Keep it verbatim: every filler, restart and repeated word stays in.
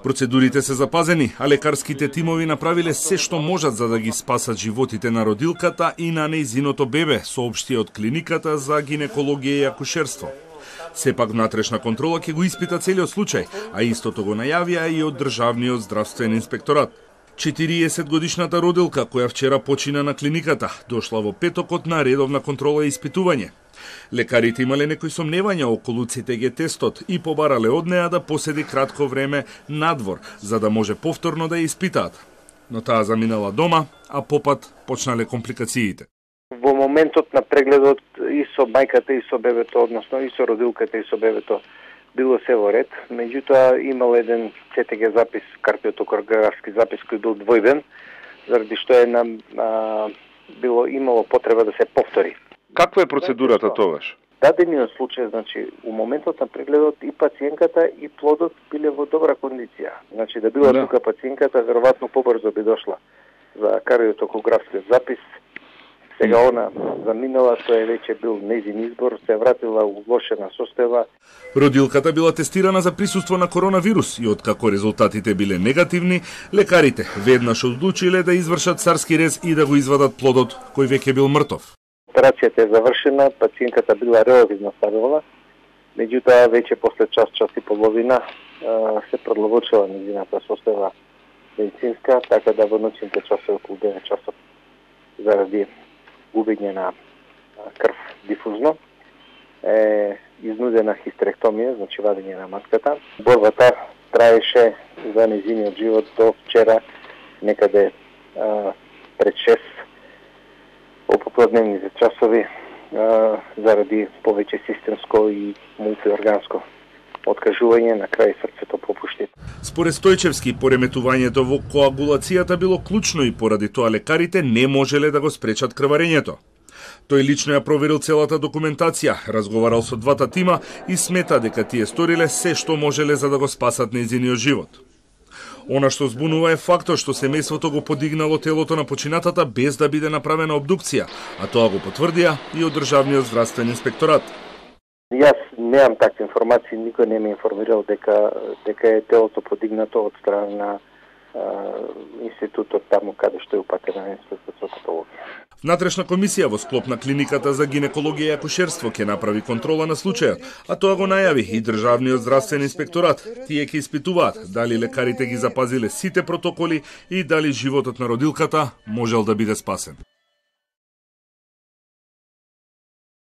Процедурите се запазени, а лекарските тимови направиле се што можат за да ги спасат животите на родилката и на нејзиното бебе, соопшти од клиниката за гинекологија и акушерство. Сепак внатрешна контрола ќе го испита целиот случај, а истото го најавија и од Државниот здравствен инспекторат. четириесет годишната родилка, која вчера почина на клиниката, дошла во петокот на редовна контрола и испитување. Лекарите имале некои сомневања околу Ц Т Г тестот и побарале од неа да поседи кратко време надвор, за да може повторно да ја испитаат. Но таа заминала дома, а попат почнале компликациите. Во моментот на прегледот и со мајката и со бебето, односно и со родилката и со бебето, било се во ред, меѓутоа имал еден Ц Т Г запис, кардиотокографски запис кој бил двојден, заради што е нам а, било имало потреба да се повтори. Каква е процедурата тогаш? Дадениот случај, значи, у моментот на прегледот и пациенката и плодот биле во добра кондиција. Значи, да била да. тука пациенката, веројатно побрзо би дошла за кардиотокографскиот запис. Сега она заминала, тоа е веќе бил нејзин избор, се вратила у влошена состојба. Родилката била тестирана за присуство на коронавирус и откако резултатите биле негативни, лекарите веднаш одлучиле да извршат царски рез и да го извадат плодот, кој веќе бил мртов. Операцијата е завршена, пациентката била релативно стабилна, меѓутоа веќе после час, час и половина се продлабочила нејзината состојба медицинска, така да во ноќните часови околу девет часот заради губење на крв дифузно е изнудена хистеректомија, значи вадење на матката. Борбата траеше за нејзиниот живот до вчера, некаде а, пред шест попладневните часови а, заради повеќе системско и мултиорганско откажување, на крај срцето попушти. Според Стојчевски, пореметувањето во коагулацијата било клучно и поради тоа лекарите не можеле да го спречат крварењето. Тој лично ја проверил целата документација, разговарал со двата тима и смета дека тие сториле се што можеле за да го спасат нејзиниот живот. Она што збунува е фактот што семејството го подигнало телото на починатата без да биде направена обдукција, а тоа го потврдија и од Државниот здравствен инспекторат. Јас немам такви информации, никој не ме информирал дека дека е телото подигнато од страна на а, институтот таму каде што е упатена институтот за патологија. Внатрешна комисија во склоп на клиниката за гинекологија и акушерство ќе направи контрола на случајот, а тоа го најави и Државниот здравствен инспекторат. Тие ќе испитуваат дали лекарите ги запазиле сите протоколи и дали животот на родилката можел да биде спасен.